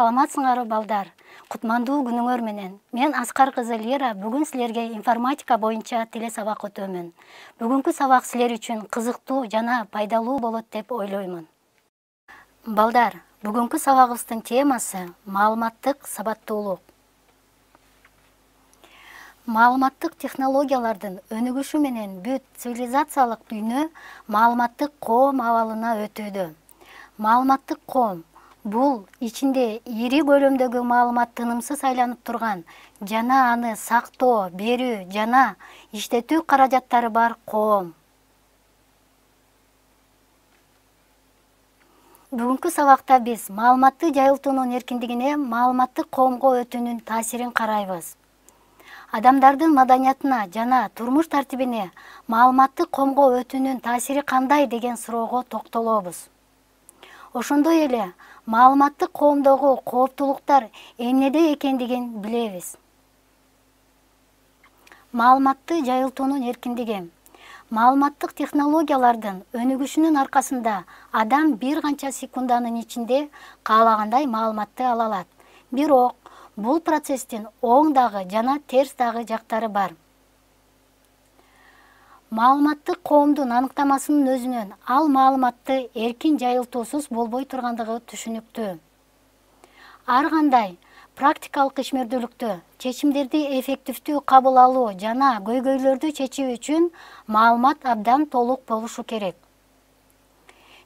Саламатсыңарбы балдар? Кутмандуу күнүңөр менен. Мен Аскар кызы Лера бүгүн силерге информатика боюнча теле сабак өтөмүн. Бүгүнкү сабак силер үчүн кызыктуу жана пайдалуу болот деп ойлоймун. Балдар, бүгүнкү сабагыбыздын темасы маалыматтык сабаттуулук. Маалыматтык технологиялардын өнүгүшү менен бүт цивилизациялык дүйнө маалыматтык коом абалына өтүүдө. Маалыматтык коом бул ичинде ири көлөмдөгү маалымат тынымсыз айланып турган жана аны сактоо, берүү жана иштетүү каражаттары бар коом. Бүгүнкү сабакта биз маалыматты жайылтуунун эркиндигине маалыматтык коомго өтүүнүн таасирин карайбыз. Адамдардын маданиятына жана турмуш тартибине маалыматтык коомго өтүүнүн таасири кандай деген суроого токтолобуз. Ошондой эле маалыматтык коомдогу кооптулуктар эмнеде экендигин билебиз. Маалыматты жайылтуунун эркиндиги. Маалыматтык технологиялардын өнүгүшүнүн аркасында адам бир канча секунданын ичинде каалагандай маалыматты ала алат. Бирок бул процесстин оң дагы жана терс дагы жактары бар. Маалыматтык коомдун аныктамасынын өзүнөн ал маалыматты эркин жайылтуусуз болбой тургандыгы түшүнүктүү. Ар кандай практикалык ишмердүүлүктө чечимдерди эффективдүү кабыл алуу жана көйгөйлөрдү чечүү үчүн маалымат абдан толук болушу керек.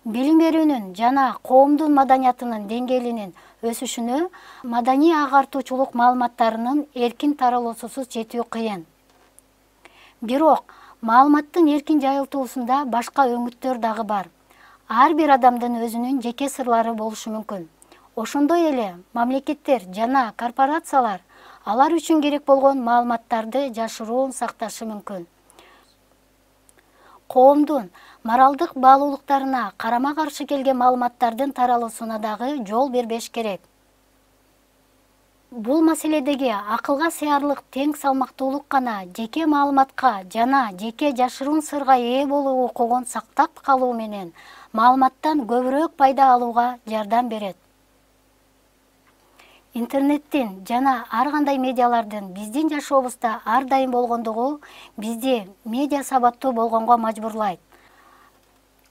Билим берүүнүн жана коомдун маданиятынын деңгээлинин өсүшүнө маданий агартуучулук маалыматтарынын эркин таралуусусуз жетүү кыйын. Бирок маалыматтын эркин жайылтуусунда башка өңүттөр дагы бар. Ар бир адамдын өзүнүн жеке сырлары болушу мүмкүн. Ошондой эле мамлекеттер жана корпорациялар алар үчүн керек болгон маалыматтарды жашыруун сакташы мүмкүн. Коомдун моралдык баалуулуктарына карама-каршы келген маалыматтардын таралуусуна дагы жол бербеш керек. Бул маселедеги акылга сыярлык тең салмактуулук гана жеке маалыматка жана жеке жашыруун сырга ээ болуу укугун сактап калуу менен маалыматтан көбүрөөк пайда алууга жардам берет. Интернеттин жана ар кандай медиалардын биздин жашообузда ар дайым болгондугу бизди медиа сабаттуу болгонго мажбурлайт.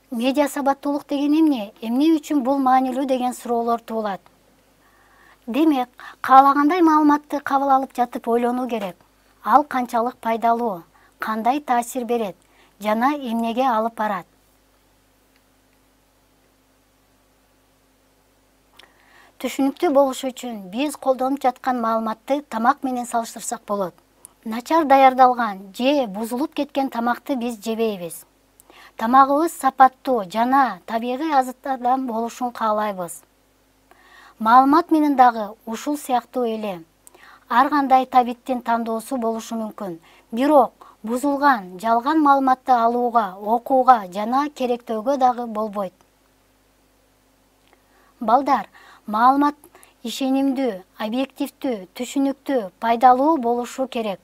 Медиа сабаттуулук деген эмне? Эмне үчүн бул маанилүү деген суроолор туулат. Демек, каалагандай маалыматты кабыл алып жатып ойлонуу керек. Ал канчалык пайдалуу, кандай таасир берет жана эмнеге алып барат. Түшүнүктүү болушу үчүн биз колдонуп жаткан маалыматты тамак менен салыштырсак болот. Начар даярдалган же бузулуп кеткен тамакты биз жебейбиз. Тамагыбыз сапаттуу жана табигый азыктардан болушун каалайбыз. Маалымат менен дагы ушул сыяктуу эле. Ар кандай табиттин тандоосу болушу мүмкүн. Бирок бузулган, жалган маалыматты алууга, окууга жана керектөөгө дагы болбойт. Балдар, маалымат ишенимдүү, объективдүү, түшүнүктүү, пайдалуу болушу керек.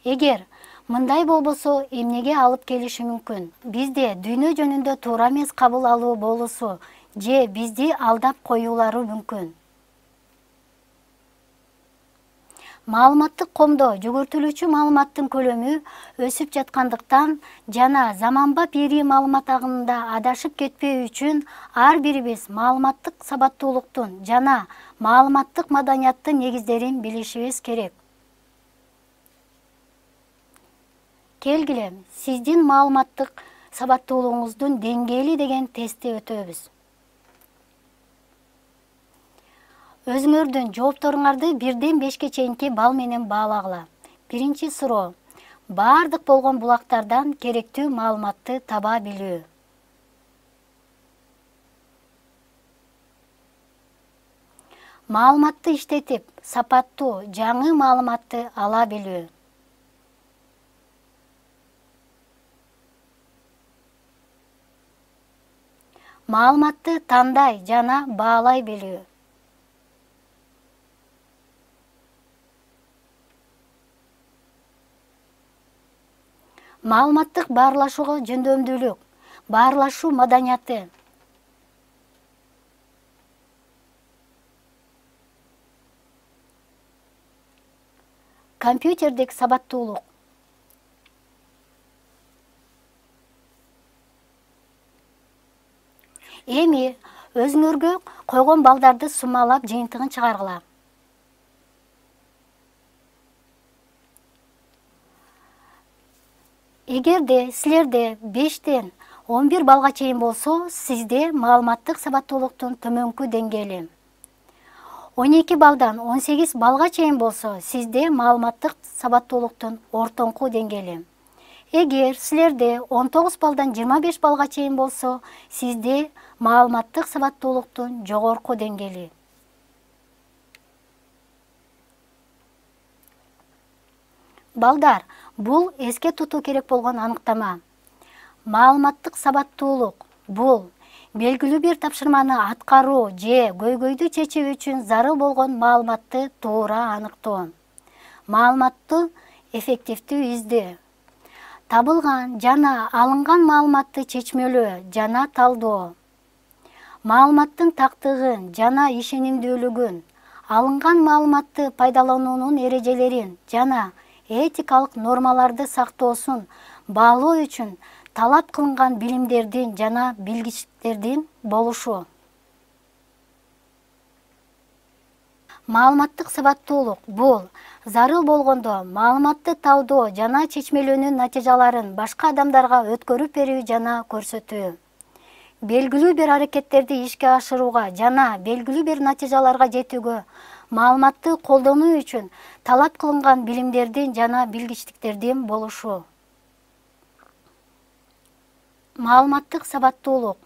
Эгер мындай болбосо эмнеге алып келиши мүмкүн? Бизде дүйнө жөнүндө туура эмес кабыл алуу болуусу же бизди алдап коюулары мүмкүн. Маалыматтык коомдо жүгүртүлүүчү маалыматтын көлөмү өсүп жаткандыктан жана заманбап ири маалымат агымында адашып кетпөө үчүн ар бирибиз маалыматтык сабаттуулуктун жана маалыматтык маданияттын негиздерин билишибиз керек. Келгиле, сиздин маалыматтык сабаттуулугуңуздун деңгээли деген тестти өтөбүз. Өзүңөрдүн жоопторуңарды 1-ден 5-ке чейинки балл менен баалагыла. Биринчи суроо. Баардык болгон булактардан керектүү маалыматты таба билүү. Маалыматты иштетип, сапаттуу, жаңы маалыматты ала билүү. Маалыматты тандай жана баалай билүү. Маалыматтык баарлашууга жөндөмдүүлүк, баарлашуу маданияты. компьютердик сабаттуулук. Эми өзүңөргө койгон балдарды суммалап жыйынтыгын чыгаргыла. Эгерде силерде 5-тен 11 балга чейин болсо, сизде маалыматтык сабаттуулуктун төмөнкү деңгээли. 12 балдан 18 балга чейин болсо, сизде маалыматтык сабаттуулуктун ортоңку деңгээли. Эгер силерде 19 балдан 25 балга чейин болсо, сизде маалыматтык сабаттуулуктун жогорку деңгээли. Балдар, бул эске тутуу керек болгон аныктама. Маалыматтык сабаттуулук бул белгилүү бир тапшырманы аткаруу же көйгөйдү чечүү үчүн зарыл болгон маалыматты туура аныктоо. Маалыматты эффективдүү издөө. Табылган жана алынган маалыматты чечмелөө жана талдоо. Маалыматтын тактыгын жана ишенимдүүлүгүн, алынган маалыматты пайдалануунун эрежелерин жана этикалык нормаларды сактоосун баалоо үчүн талап кылынган билимдердин жана билгичтиктердин болушу. Маалыматтык сабаттуулук бул зарыл болгондо маалыматты талдоо жана чечмелөөнүн натыйжаларын башка адамдарга өткөрүп берүү жана көрсөтүү. Белгилүү бир аракеттерди ишке ашырууга жана белгилүү бир натыйжаларга жетүүгө маалыматты колдонуу үчүн талап кылынган билимдердин жана билгичтиктердин болушу. Маалыматтык сабаттуулук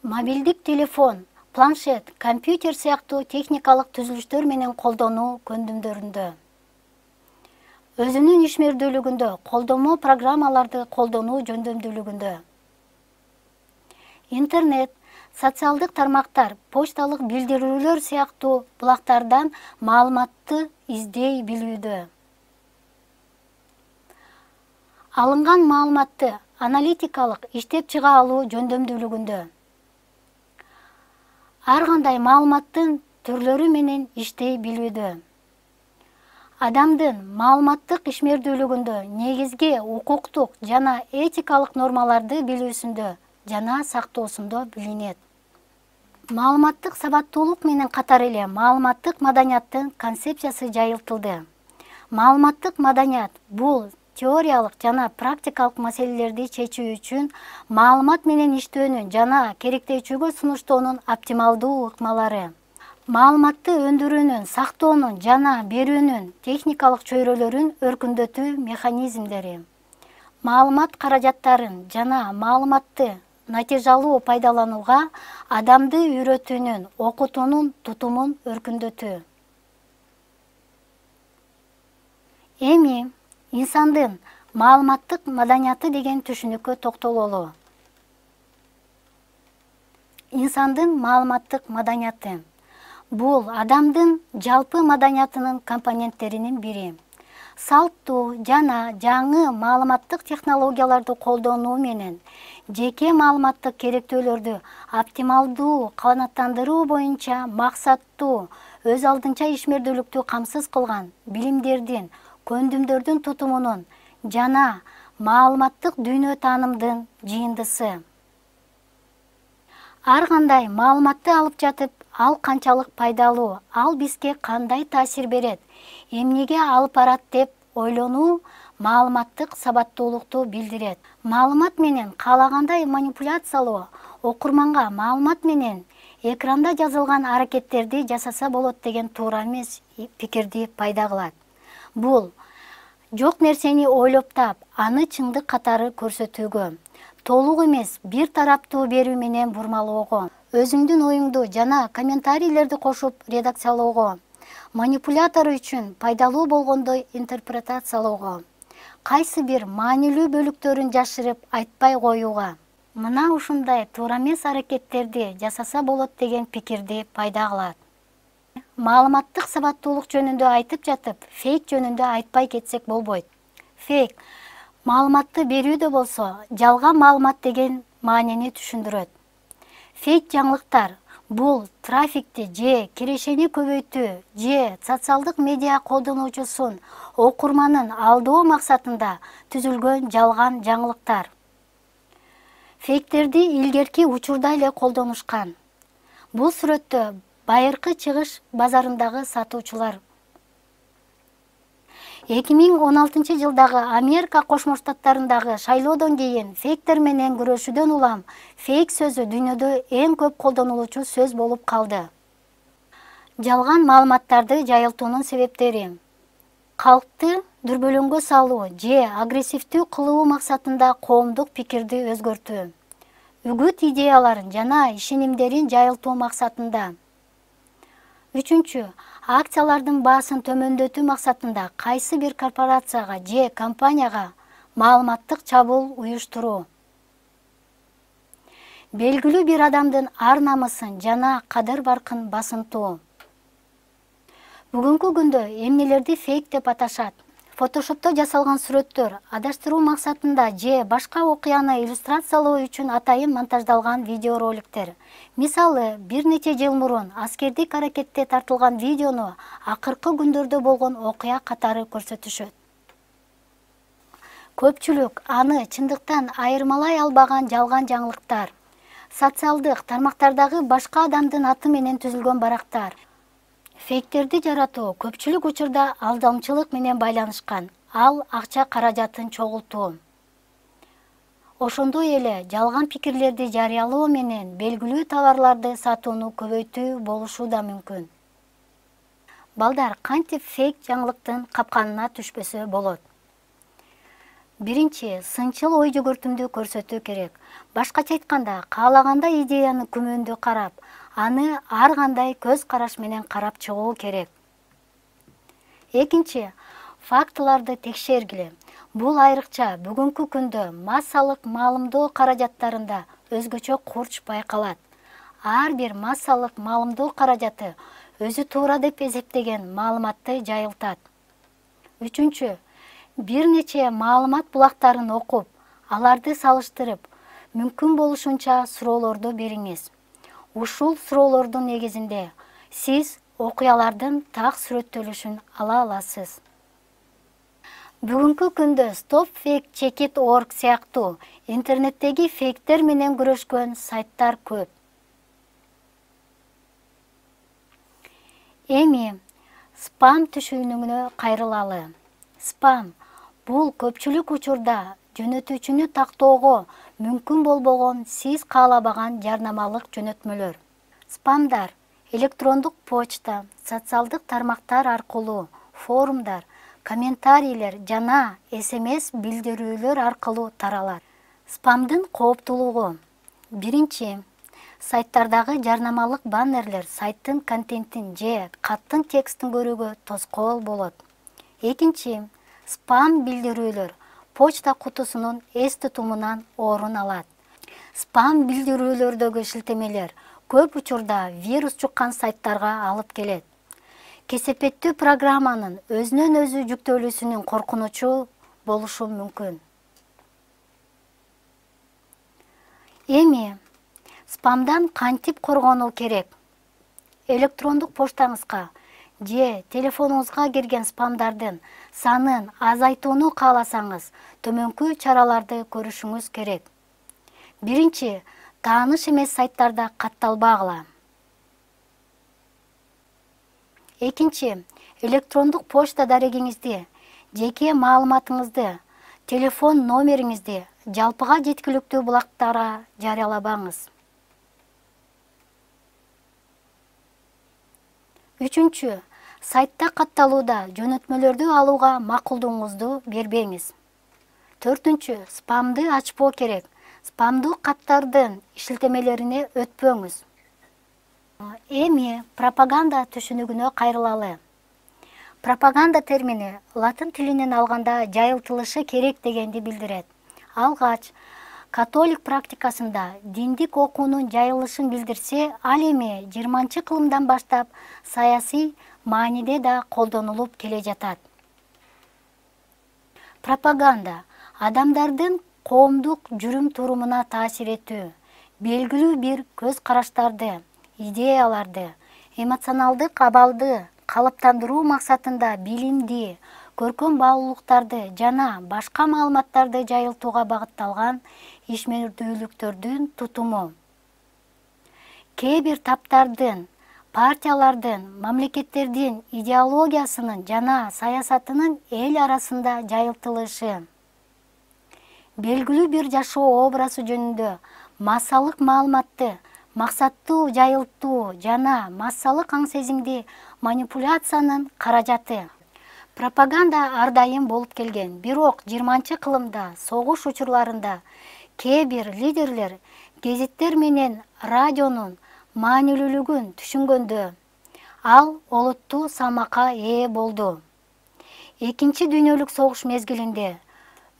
мобилдик телефон, планшет, компьютер сыяктуу техникалык түзүлүштөр менен колдонуу көндүмдөрүндө. Өзүнүн ишмердүүлүгүндө, колдонмо программаларды колдонуу жөндөмдүүлүгүндө. Интернет, социалдык тармактар, почталык билдирүүлөр сыяктуу булактардан маалыматты издей билүүдө. Алынган маалыматты аналитикалык иштеп чыга алуу жөндөмдүүлүгүндө. Ар кандай маалыматтын түрлөрү менен иштей билүүдө. Адамдын маалыматтык ишмердүүлүгүндө негизги укуктук жана этикалык нормаларды билүүсүндө жана сактоосунда билинет. Маалыматтык сабаттуулук менен катар эле маалыматтык маданияттын концепциясы жайылтылды. Маалыматтык маданият бул теориялык жана практикалык маселелерди чечүү үчүн маалымат менен иштөөнүн жана керектөөчүгө сунуштоонун оптималдуу ыкмалары. Маалыматты өндүрүүнүн, сактоонун жана берүүнүн техникалык чөйрөлөрүн өркүндөтүү механизмдери. Маалымат каражаттарын жана маалыматты натыйжалуу пайдаланууга адамды үйрөтүүнүн, окутуунун тутумун өркүндөтүү. Эми инсандын маалыматтык маданияты деген түшүнүккө токтололу. Инсандын маалыматтык маданияты бул адамдын жалпы маданиятынын компоненттеринин бири. Салттуу жана жаңы маалыматтык технологияларды колдонуу менен жеке маалыматтык керектөөлөрдү оптималдуу канааттандыруу боюнча максаттуу, өз алдынча ишмердүүлүктү камсыз кылган билимдердин, көндүмдөрдүн тутумунун жана маалыматтык дүйнө таанымдын жыйындысы. Ар кандай маалыматты алып жатып, ал канчалык пайдалуу, ал бизге кандай таасир берет, эмнеге алып барат деп ойлонуу маалыматтык сабаттуулукту билдирет. Маалымат менен каалагандай манипуляциялоо, окурманга маалымат менен экранда жазылган аракеттерди жасаса болот деген туура эмес пикирди пайда кылат. Бул жок нерсени ойлоп тап, аны чындык катары көрсөтүүгө, толук эмес бир тараптуу берүү менен бурмалоого, өзүңдүн оюңду жана комментарийлерди кошуп редакциялоого, манипулятор үчүн пайдалуу болгондой интерпретациялоого, кайсы бир маанилүү бөлүктөрүн жашырып айтпай коюуга. Мына ушундай туура эмес аракеттерди жасаса болот деген пикирди пайда кылат. Маалыматтык сабаттуулук жөнүндө айтып жатып, фейк жөнүндө айтпай кетсек болбойт. Фейк маалыматты берүүдө болсо, жалган маалымат деген маанини түшүндүрөт. Фейк жаңылыктар Бул трафикти же кирешени көбөйтүү же социалдык медиа колдонуучусун окурманын алдоо максатында түзүлгөн жалган жаңылыктар. Фейктерди илгерки учурда эле колдонушкан. Бул сүрөттө байыркы чыгыш базарындагы сатуучулар 2016 жылдагы Америка Кошмо Штаттарындагы шайлоодон кийин фейктер менен күрөшүүдөн улам фейк сөзү дүйнөдө эң көп колдонулуучу сөз болуп калды. Жалган маалыматтарды жайылтуунун себептери: калкты дүрбөлөңгө салуу же агрессивдүү кылуу максатында коомдук пикирди өзгөртүү, үгүт идеяларын жана ишенимдерин жайылтуу максатында. Үчүнчү, акциялардын баасын төмөндөтүү максатында кайсы бир корпорацияга же компанияга маалыматтык чабуул уюштуруу. Белгилүү бир адамдын ар-намысын жана кадыр-баркын басынтуу. Бүгүнкү күндө эмнелерди фейк деп аташат? Фотошопто жасалган сүрөттөр, адаштыруу максатында же башка окуяны иллюстрациялоо үчүн атайын монтаждалган видеороликтер. Мисалы, бир нече жыл мурун аскердик аракетте тартылган видеону акыркы күндөрдө болгон окуя катары көрсөтүшөт. Көпчүлүк аны чындыктан айырмалай албаган жалган жаңылыктар. Социалдык тармактардагы башка адамдын аты менен түзүлгөн барактар. Фейктерди жаратуу көпчүлүк учурда алдамчылык менен байланышкан. Ал акча каражатын чогултуу. Ошондой эле жалган пикирлерди жарыялоо менен белгилүү товарларды сатууну көбөйтүү болушу да мүмкүн. Балдар, кантип фейк жаңылыктын капканына түшпөсө болот? Биринчи, сынчыл ой жүгүртүмдү көрсөтүү керек. Башкача айтканда, каалаганда идеяны күмөндүү карап, аны ар кандай көз караш менен карап чыгуу керек. Экинчи, фактыларды текшергиле. Бул айрыкча бүгүнкү күндө массалык маалымдоо каражаттарында өзгөчө курч байкалат. Ар бир массалык маалымдоо каражаты өзү туура деп эсептеген маалыматты жайылтат. Үчүнчү, бир нече маалымат булактарын окуп, аларды салыштырып, мүмкүн болушунча суроолорду бериңиз. Ушул суроолордун негизинде сиз окуялардын так сүрөттөлүшүн ала аласыз. Бүгүнкү күндө stopfake.org сыяктуу интернеттеги фейктер менен күрөшкөн сайттар көп. Эми спам түшүнүгүнө кайрылалы. Спам бул көпчүлүк учурда жөнөтүүчүнү тактоого мүмкүн болбогон сиз каалабаган жарнамалык жөнөтмөлөр. Спамдар электрондук почта, социалдык тармактар аркылуу, форумдар, комментарийлер жана SMS билдирүүлөр аркылуу таралат. Спамдын кооптуулугу: биринчи, сайттардагы жарнамалык баннерлер сайттын контентин же каттын текстин көрүүгө тоскоол болот. Экинчи, спам билдирүүлөр почта кутусунун эс тутумунан орун алат. Спам билдирүүлөрдөгү шилтемелер көп учурда вирус жуккан сайттарга алып келет. Кесепеттүү программанын өзүнөн өзү жүктөлүүсүнүн коркунучу болушу мүмкүн. Эми спамдан кантип коргонуу керек? Электрондук поштаңызга же телефонуңузга кирген спамдардын санын азайтууну кааласаңыз, төмөнкү чараларды көрүшүңүз керек. Биринчи, тааныш эмес сайттарда катталбагыла. Экинчи, электрондук почта дарегиңизди, жеке маалыматыңызды, телефон номериңизди жалпыга жеткиликтүү булактарга жарыялабаңыз. Үчүнчү, сайтта катталууда жөнөтмөлөрдү алууга макулдугуңузду бербеңиз. Төртүнчү, спамды ачпоо керек. Спамдуу каттардын шилтемелерине өтпөңүз. Эми пропаганда түшүнүгүнө кайрылалы. Пропаганда термини латын тилинен алганда жайылтылышы керек дегенди билдирет. Алгач католик практикасында диндик окуунун жайылышын билдирсе, ал эми 20-кылымдан баштап саясий мааниде да колдонулуп келе жатат. Пропаганда адамдардын коомдук жүрүм турумуна таасир этүү, белгилүү бир көз караштарды, идеяларды, эмоционалдык абалды калыптандыруу максатында билимди, көркөм баалуулуктарды жана башка маалыматтарды жайылтууга багытталган ишмердүүлүктөрдүн тутуму. Кээ бир таптардын, партиялардын, мамлекеттердин идеологиясынын жана саясатынын эл арасында жайылтылышы. Белгилүү бир жашоо образы жөнүндө массалык маалыматты максаттуу жайылтуу жана массалык аң-сезимди манипуляциянын каражаты. Пропаганда ар дайым болуп келген, бирок 20-кылымда согуш учурларында кээ бир лидерлер гезиттер менен радионун маанилүүлүгүн түшүнгөндө ал олуттуу салмакка ээ болду. Экинчи дүйнөлүк согуш мезгилинде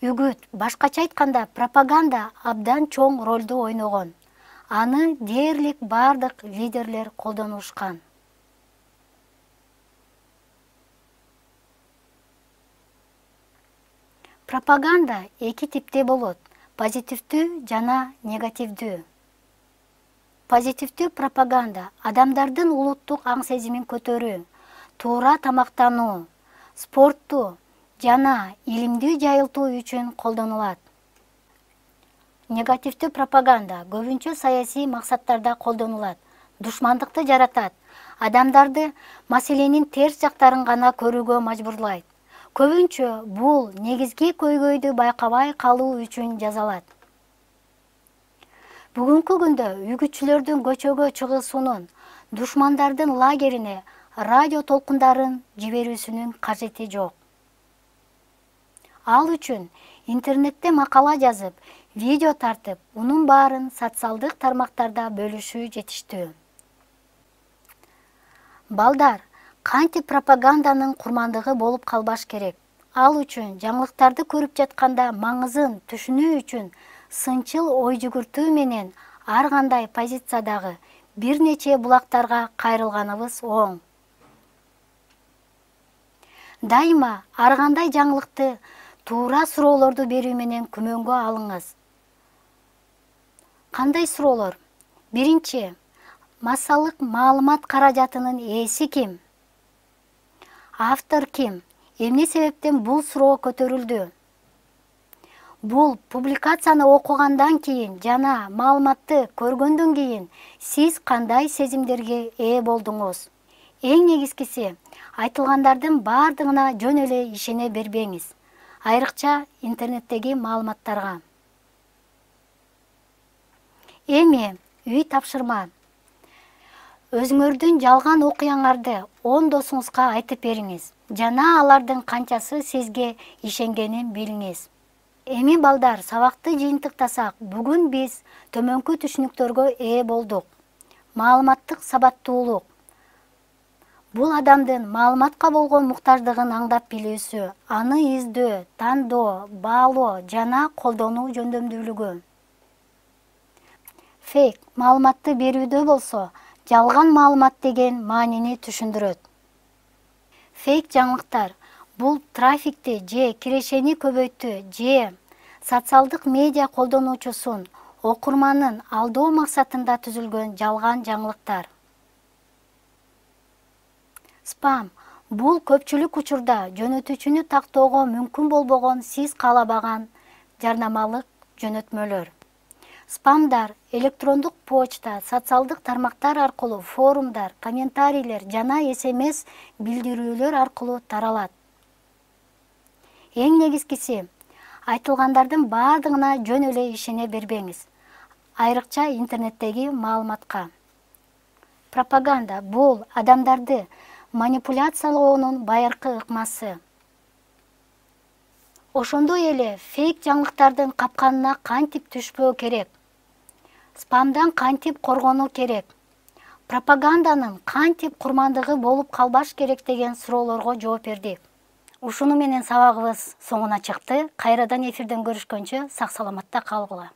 үгүт, башкача айтканда пропаганда абдан чоң ролду ойногон. Аны дээрлик бардык лидерлер колдонушкан. Пропаганда эки типте болот: позитивдүү жана негативдүү. Позитивдүү пропаганда адамдардын улуттук аң-сезимин көтөрүү, туура тамактануу, спортту жана илимди жайылтуу үчүн колдонулат. Негативдүү пропаганда көбүнчө саясий максаттарда колдонулат, душмандыкты жаратат, адамдарды маселенин терс жактарын гана көрүүгө мажбурлайт. Көбүнчө бул негизги көйгөйдү байкабай калуу үчүн жасалат. Бүгүнкү күндө үгүтчүлөрдүн көчөгө чыгуусунун, душмандардын лагерине радио толкундарын жиберүүсүнүн кажети жок. Ал үчүн интернетте макала жазып, видео тартып, унун баарын социалдык тармактарда бөлүшүү жетиштүү. Балдар, кантип пропаганданын курмандыгы болуп калбаш керек? Ал үчүн жаңылыктарды көрүп жатканда маңызын түшүнүү үчүн сынчыл ой жүгүртүү менен ар кандай позициядагы бир нече булактарга кайрылганыбыз оң. Дайыма ар кандай жаңылыкты туура суроолорду берүү менен күмөнгө алыңыз. Кандай суроолор? Биринчи, массалык маалымат каражатынын ээси ким? Автор ким? Эмне себептен бул суроо көтөрүлдү? Бул публикацияны окугандан кийин жана маалыматты көргөндөн кийин сиз кандай сезимдерге ээ болдуңуз? Эң негизгиси, айтылгандардын бардыгына жөн эле ишене бербеңиз, айрыкча интернеттеги маалыматтарга. Эми үй тапшырма. Өзүңөрдүн жалган окуяңарды 10 досуңузга айтып бериңиз жана алардын канчасы сизге ишенгенин билиңиз. Эми балдар, сабакты жыйынтыктасак, бүгүн биз төмөнкү түшүнүктөргө ээ болдук. Маалыматтык сабаттуулук. Бул адамдын маалыматка болгон муктаждыгын аңдап билүүсү, аны издөө, тандоо, баалоо жана колдонуу жөндөмдүүлүгү. Фейк маалыматты берүүдө болсо, жалган маалымат деген маанини түшүндүрөт. Фейк жаңылыктар бул трафикти же кирешени көбөйттү же социалдык медиа колдонуучусун, окурманын алдоо максатында түзүлгөн жалган жаңылыктар. Спам бул көпчүлүк учурда жөнөтүүчүнү тактоого мүмкүн болбогон сиз каалабаган жарнамалык жөнөтмөлөр. Спамдар электрондук почта, социалдык тармактар аркылуу, форумдар, комментарийлер жана СМС билдирүүлөр аркылуу таралат. Эң негизгиси, айтылгандардын бардыгына жөн эле ишене бербеңиз, айрыкча интернеттеги маалыматка. Пропаганда бул адамдарды манипуляциялоонун байыркы ыкмасы. Ошондой эле фейк жаңылыктардын капканына кантип түшпөө керек? Спамдан кантип коргонуу керек? Пропаганданын кантип курмандыгы болуп калбаш керек деген суроолорго жооп бердик. Ушуну менен сабагыбыз соңуна чыкты. Кайрадан эфирден көрүшкөнчө сак саламатта калгыла.